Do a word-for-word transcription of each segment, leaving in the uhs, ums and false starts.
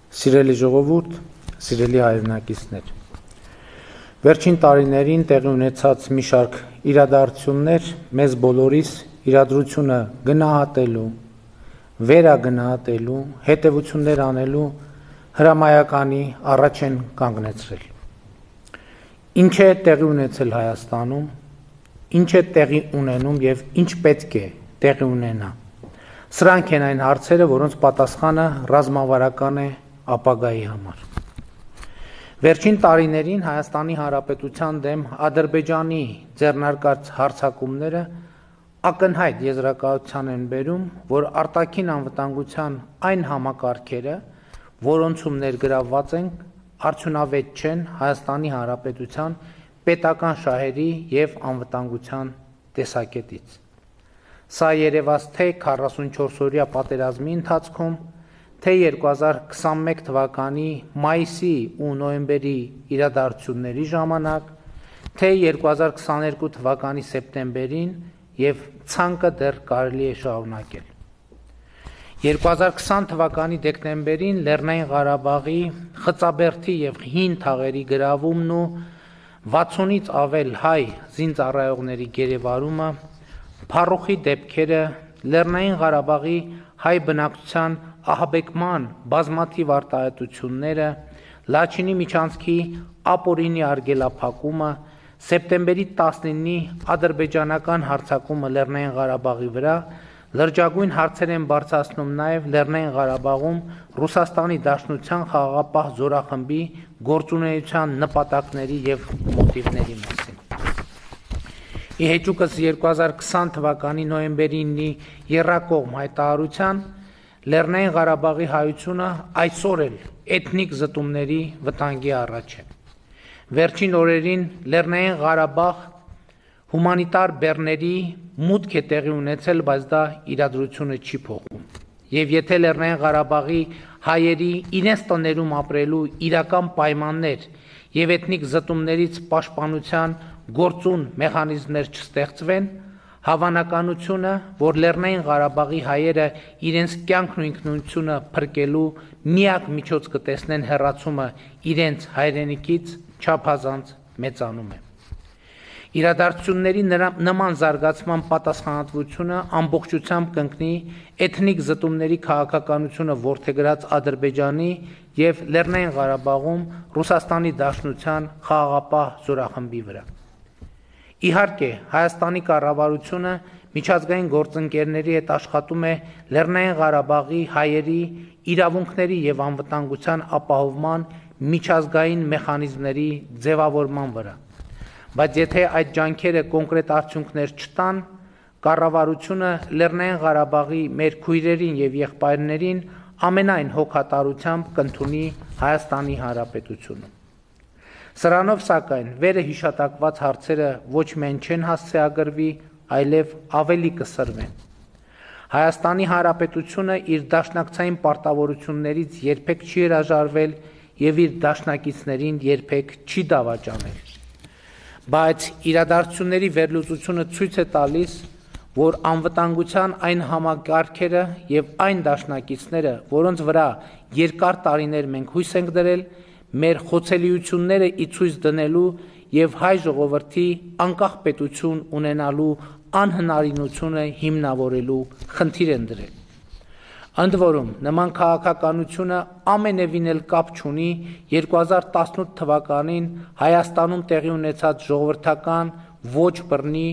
Սիրելի ժողովուրդ, սիրելի հայրենակիցներ, վերջին տարիներին տեղի ունեցած մի շարք իրադարձություններ մեզ բոլորիս իրադրությունը գնահատելու, վերագնահատելու, հետևություններ անելու հրամայականի առաջ են կանգնեցրել։ Ինչ է տեղի ունեցել Հայաստանում, ինչ է տեղի ունենում եւ ինչ պետք է տեղի ունենա։ Սրանք են այն հարցերը, որոնց պատասխանը ռազմավարական է ապագայի համար։ Վերջին տարիներին Հայաստանի Հանրապետության դեմ Ադրբեջանի ձեռնարկած հարձակումները ակնհայտ եզրակացության են բերում, որ արտաքին անվտանգության այն համակարգերը, որոնցում ներգրավված են, արդյունավետ չեն Հայաստանի Հանրապետության պետական շահերի եւ անվտանգության տեսակետից։ Սա երևաց թե քառասունչորս-օրյա պատերազմի ընթացքում, թե երկու հազար քսանմեկ թվականի մայիսի ու նոյեմբերի իրադարձությունների ժամանակ, թե երկու հազար քսաներկու թվականի սեպտեմբերին եւ ցանկը դեռ կարելի է շարունակել։ երկու հազար քսան թվականի դեկտեմբերին Լեռնային Ղարաբաղի Խծաբերդի եւ Հին թաղերի գրավումն ու վաթսունից ավել հայ զինծառայողների գերեվարումը, փառուխի դեպքերը, Լեռնային Ղարաբաղի հայ բնակչության ահաբեկման բազմաթիվ արտահայտությունները, Լաչինի միջանցքի ապօրինի արգելափակումը, սեպտեմբերի տասնինի ադրբեջանական հարձակումը Լեռնային Ղարաբաղի վրա, լրջագույն հարցեր են բարձրացնում նաև Լեռնային Ղարաբաղում Ռուսաստանի Դաշնության խաղաղապահ զորախմբի գործունեության նպատակների եւ մոտիվների մասին։ Ի հեճուկս երկու հազար քսան թվականի նոյեմբերի ինի եռակողմ հայտարարության Լեռնային Ղարաբաղի հայությունը այսօր էլ էթնիկ զտումների վտանգի առաջ է։ Վերջին օրերին Լեռնային Ղարաբաղ հումանիտար բեռների մուտք է տեղի ունեցել, բայց դա իրադրությունը չի փոխում։ Եվ եթե Լեռնային Ղարաբաղի հայերի իրենց տներում ապրելու իրական պայմաններ եւ էթնիկ զտումներից պաշտպանության գործուն մեխանիզմներ չստեղծվեն, հավանականությունը, որ Լեռնային Ղարաբաղի հայերը իրենց կյանքն ու ինքնությունը փրկելու միակ միջոց կտեսնեն հեռացումը իրենց հայրենիքից, չափազանց մեծանում է։ Իրադարձությունների նման զարգացման պատասխանատվությունը ամբողջությամբ կընկնի էթնիկ զտումների քաղաքականությունը որդեգրած Ադրբեջանի եւ Լեռնային Ղարաբաղում Ռուսաստանի Դաշնության խաղաղապահ զորախմբի վրա։ Իհարկե, Հայաստանի կառավարությունը միջազգային գործընկերների հետ աշխատում է Լեռնային Ղարաբաղի հայերի իրավունքների եւ անվտանգության ապահովման միջազգային մեխանիզմների ձևավորման վրա։ Բայց եթե այդ ջանքերը կոնկրետ արդյունքներ չտան, կառավարությունը Լեռնային Ղարաբաղի մեր քույրերին եւ եղբայրներին ամենայն հոգատարությամբ կընդունի Հայաստանի Հանրապետությունը։ Սրանով սակայն վերը հիշատակված հարցերը ոչ միայն չեն հասցեագրվի, այլև ավելի կսրվեն։ Հայաստանի Հանրապետությունը իր դաշնակցային պարտավորություններից երբեք չի հրաժարվել եւ իր դաշնակիցներին երբեք չի դավաճանել։ Բայց իրադարձությունների վերլուծությունը ցույց է տալիս, որ անվտանգության այն համակարգերը եւ այն դաշնակիցները, որոնց վրա երկար տարիներ մենք հույս ենք դրել, մեր խոցելիությունները ի ցույց դնելու եւ հայ ժողովրդի անկախ պետություն ունենալու անհնարինությունը հիմնավորելու խնդիր են դրել։ Ընդ որում, նման քաղաքականությունը ամենևին էլ կապ չունի երկու հազար տասնութ թվականին Հայաստանում տեղի ունեցած ժողովրդական ոչ բռնի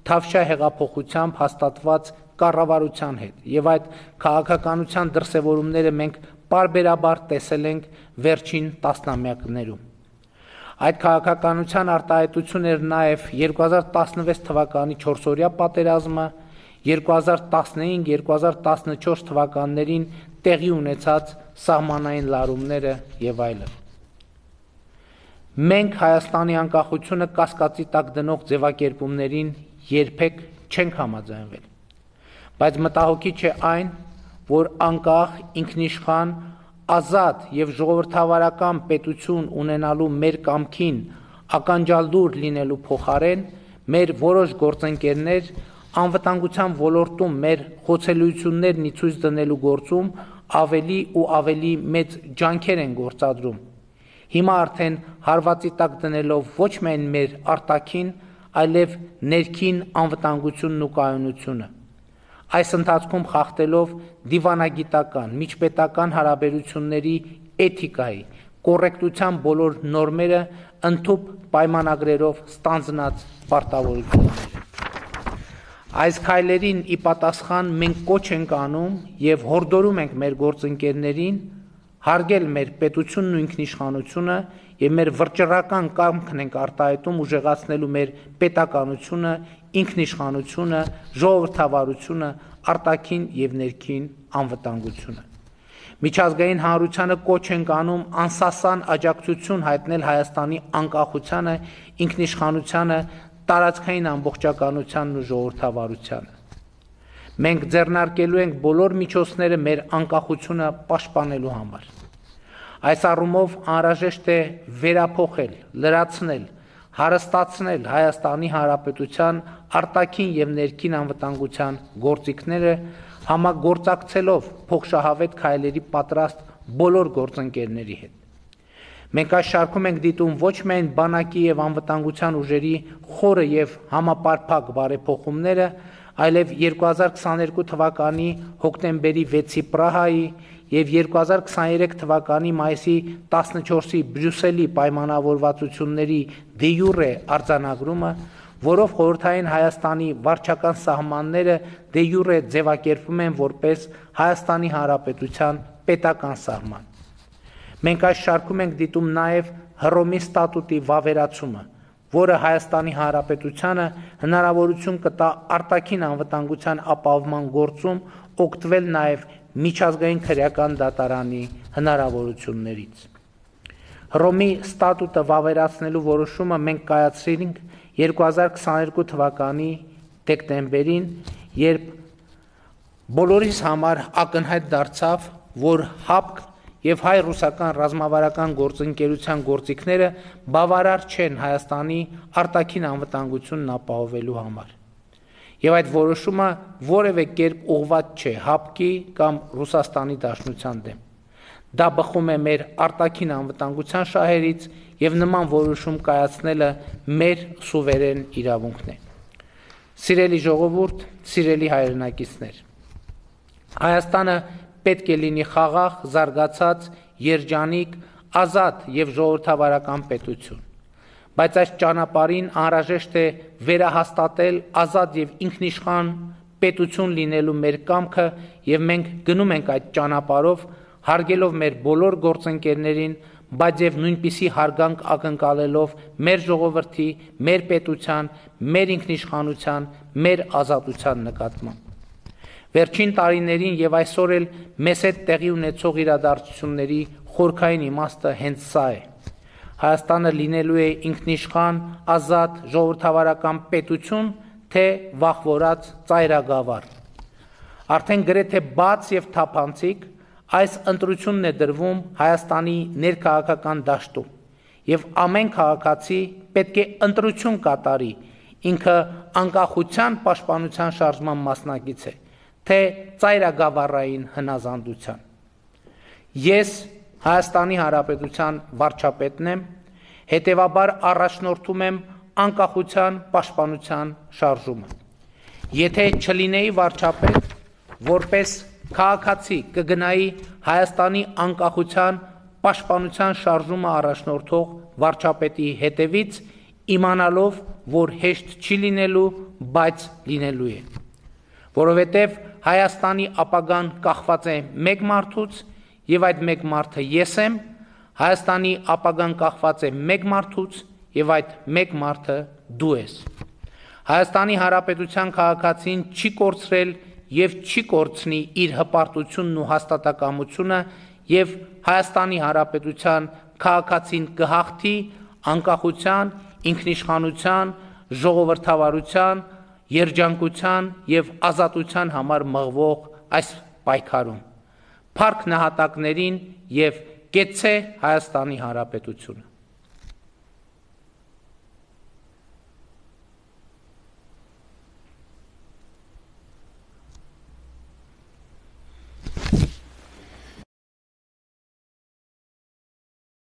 Թավշյա հեղափոխությամբ հաստատված կառավարության հետ, եւ այդ քաղաքականության դրսևորումները մենք պարբերաբար տեսել ենք վերջին տասնամյակներում։ Այդ քաղաքականության արտահայտություն էր նաեւ երկու հազար տասնվեց թվականի չորսօրյա պատերազմը, երկու հազար տասնհինգ երկու հազար տասնչորս թվականներին տեղի ունեցած սահմանային լարումները եւ այլն։ Մենք Հայաստանի անկախությունը կասկածի տակ դնող ձևակերպումներին երբեք չենք համաձայնվել, բայց մտահոգիչ է այն, որ անկախ, ինքնիշխան, ազատ եւ ժողովրդավարական պետություն ունենալու մեր կամքին ականջալդուր լինելու փոխարեն մեր որոշ գործընկերներ անվտանգության ոլորտում մեր խոցելիություններն ի ցույց դնելու գործում ավելի ու ավելի մեծ ջանքեր են գործադրում։ Հիմա արդեն հարվածի տակ դնելով ոչ միայն մեր արտաքին, այլև ներքին անվտանգությունն ու կայունությունը։ Այս ընթացքում խախտելով դիվանագիտական, միջպետական հարաբերությունների էթիկայի, կոռեկտության բոլոր նորմերը, ընդհուպ պայմանագրերով ստանձնած պարտավորությունները։ Այս քայլերին ի պատասխան մենք կոչ ենք անում եւ հորդորում ենք մեր գործընկերներին հարգել մեր պետությունն ու ինքնիշխանությունը եւ մեր վճռական կամքն ենք արտահայտում ուժեղացնելու մեր պետականությունը, ինքնիշխանությունը, ժողովրդավարությունը, արտաքին եւ ներքին անվտանգությունը։ Միջազգային հանրությանը կոչ ենք անում անսասան աջակցություն հայտնել Հայաստանի անկախությանը, ինքնիշխանությանը, տարածքային ամբողջականությանն ու ժողովրդավարությանը։ Մենք ձեռնարկելու ենք բոլոր միջոցները մեր անկախությունը պաշտպանելու համար։ Այս առումով անհրաժեշտ է վերափոխել, լրացնել, հարստացնել Հայաստանի Հանրապետության արտաքին եւ ներքին անվտանգության գործիքները, համագործակցելով փոխշահավետ քայլերի պատրաստ բոլոր գործընկերների հետ։ Մենք այս շարքում ենք դիտում ոչ միայն բանակի եւ անվտանգության ուժերի խորը եւ համապարփակ բարեփոխումները, այլև երկու հազար քսաներկու թվականի հոկտեմբերի վեցի Պրահայի եւ երկու հազար քսաներեք թվականի մայիսի տասնչորսի Բրյուսելի պայմանավորվածությունների դե յուրե արձանագրումը, որով խորհրդային Հայաստանի վարչական սահմանները դե յուրե ձևակերպվում են որպես Հայաստանի Հանրապետության պետական սահման։ Մենք այս շարքում ենք դիտում նաև Հռոմի ստատուտի վավերացումը, որը Հայաստանի Հանրապետությանը հնարավորություն կտա արտաքին անվտանգության ապահովման գործում օգտվել նաև միջազգային քրեական դատարանի հնարավորություններից։ Հռոմի ստատուտը վավերացնելու որոշումը մենք կայացրինք երկու հազար քսաներկու թվականի դեկտեմբերին, երբ բոլորիս համար ակնհայտ դարձավ, որ ՀԱՊԿ եւ հայ-ռուսական ռազմավարական գործընկերության գործիքները բավարար չեն Հայաստանի արտաքին անվտանգությունն ապահովելու համար։ Եվ այդ որոշումը որևէ կերպ ուղղված չէ ՀԱՊԿ-ի կամ Ռուսաստանի Դաշնության դեմ։ Դա բխում է մեր արտաքին անվտանգության շահերից եւ նման որոշում կայացնելը մեր սուվերեն իրավունքն է։ Սիրելի ժողովուրդ, սիրելի հայրենակիցներ, Հայաստանը պետք է լինի խաղաղ, զարգացած, երջանիկ, ազատ եւ ժողովրդավարական պետություն, բայց այս ճանապարհին անհրաժեշտ է վերահաստատել ազատ եւ ինքնիշխան պետություն լինելու մեր կամքը եւ մենք գնում ենք այդ ճանապարհով, հարգելով մեր բոլոր գործընկերներին, բայց եւ նույնպիսի հարգանք ակնկալելով մեր ժողովրդի, մեր պետության, մեր ինքնիշխանության, մեր ազատության նկատմամբ։ Վերջին տարիներին եւ այսօր էլ մեզ հետ տեղի ունեցող իրադարձությունների խորքային իմաստը հենց սա է։ Հայաստանը լինելու է ինքնիշխան, ազատ, ժողովրդավարական պետություն, թե վախվորած ծայրագավառ։ Արդեն գրեթե բաց եւ թափանցիկ այս ընտրությունն է դրվում Հայաստանի ներքաղաքական դաշտում եւ ամեն քաղաքացի պետք է ընտրություն կատարի, ինքը անկախության պաշտպանության շարժման մասնակից է, թե ծայրագավառային հնազանդության։ Ես Հայաստանի Հանրապետության վարչապետն եմ, հետևաբար առաջնորդում եմ անկախության պաշտպանության շարժումը։ Եթե չլինեի վարչապետ, որպես քաղաքացի կգնայի Հայաստանի անկախության պաշտպանության շարժումը առաջնորդող վարչապետի հետևից, իմանալով, որ հեշտ չի լինելու, բայց լինելու է։ Որովհետև Հայաստանի ապագան կախված է մեկ մարդուց, եւ այդ մեկ մարդը ես եմ, Հայաստանի ապագան կախված է մեկ մարդուց, եւ այդ մեկ մարդը դու ես։ Հայաստանի Հանրապետության քաղաքացին չի կորցրել եւ չի կորցնի իր հպարտությունն ու հաստատակամությունը եւ Հայաստանի Հանրապետության քաղաքացին կհաղթի անկախության, ինքնիշխանության, ժողովրդավարության, երջանկության եւ ազատության համար մղվող այս պայքարում։ Փառք նահատակներին եւ կեցցե Հայաստանի Հանրապետությունը։